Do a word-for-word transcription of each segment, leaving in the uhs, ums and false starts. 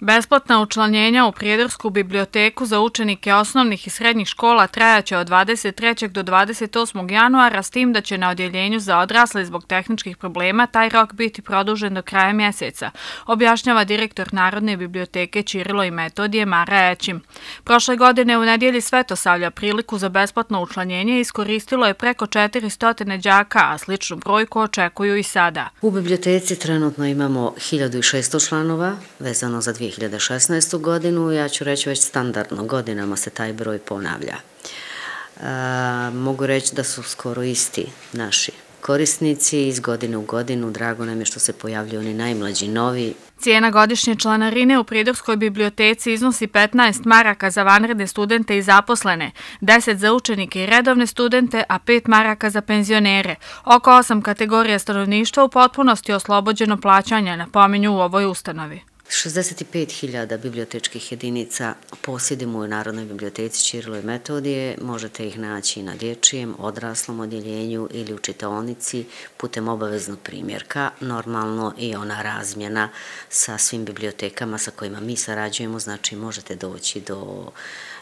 Besplatna učlanjenja u Prijedorsku biblioteku za učenike osnovnih i srednjih škola trajaće od dvadeset trećeg do dvadeset osmog januara, s tim da će na odjeljenju za odrasle zbog tehničkih problema taj rok biti produžen do kraja mjeseca, objašnjava direktor Narodne biblioteke Ćirilo i Metodije Mara Ećim. Prošle godine u nedjelji Svetosavlja priliku za besplatno učlanjenje iskoristilo je preko četiristo đaka, a sličnu brojku očekuju i sada. U biblioteci trenutno imamo hiljadu šesto članova vezano za dvije hiljade šesnaestu. godinu. Ja ću reći već standardno, godinama se taj broj ponavlja. E, mogu reći da su skoro isti naši korisnici iz godine u godinu. Drago nam je što se pojavljuju oni najmlađi novi. Cijena godišnje članarine u Prijedorskoj biblioteci iznosi petnaest maraka za vanredne studente i zaposlene, deset za učenike i redovne studente, a pet maraka za penzionere. Oko osam kategorija stanovništva u potpunosti oslobođeno plaćanja, napominju u ovoj ustanovi. šezdeset pet hiljada bibliotečkih jedinica posjedimo u Narodnoj biblioteci Ćirilo i Metodije. Možete ih naći na dječjem, odraslom odjeljenju ili u čitaonici putem obaveznog primjerka. Normalno i ona razmjena sa svim bibliotekama sa kojima mi sarađujemo, znači možete doći do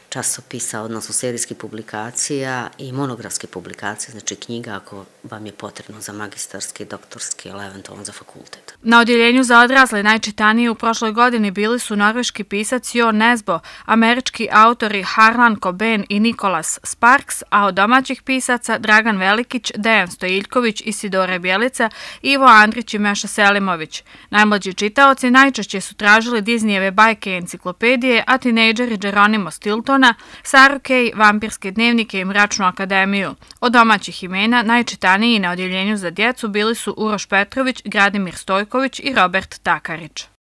časopisa, odnosno serijskih publikacija i monografske publikacije, znači knjiga ako vam je potrebno za magistarski, doktorski ili eventualno za fakultet. Na odjeljenju za odrasle najčitaniji u prošloj godini bili su norveški pisac Jo Nesbo, američki autori Harlan Coben i Nicholas Sparks, a od domaćih pisaca Dragan Velikić, Dejan Stojiljković, Isidora Bjelica, Ivo Andrić i Meša Selimović. Najmlađi čitaoci najčešće su tražili Disneyjeve bajke i enciklopedije, a tinejdžeri Geronimo Stiltona, Saru Kej, vampirske dnevnike i Mračnu akademiju. Od domaćih imena najčitaniji na odjeljenju za djecu bili su Uroš Petrović, Gradimir Stojković i Robert Takarić.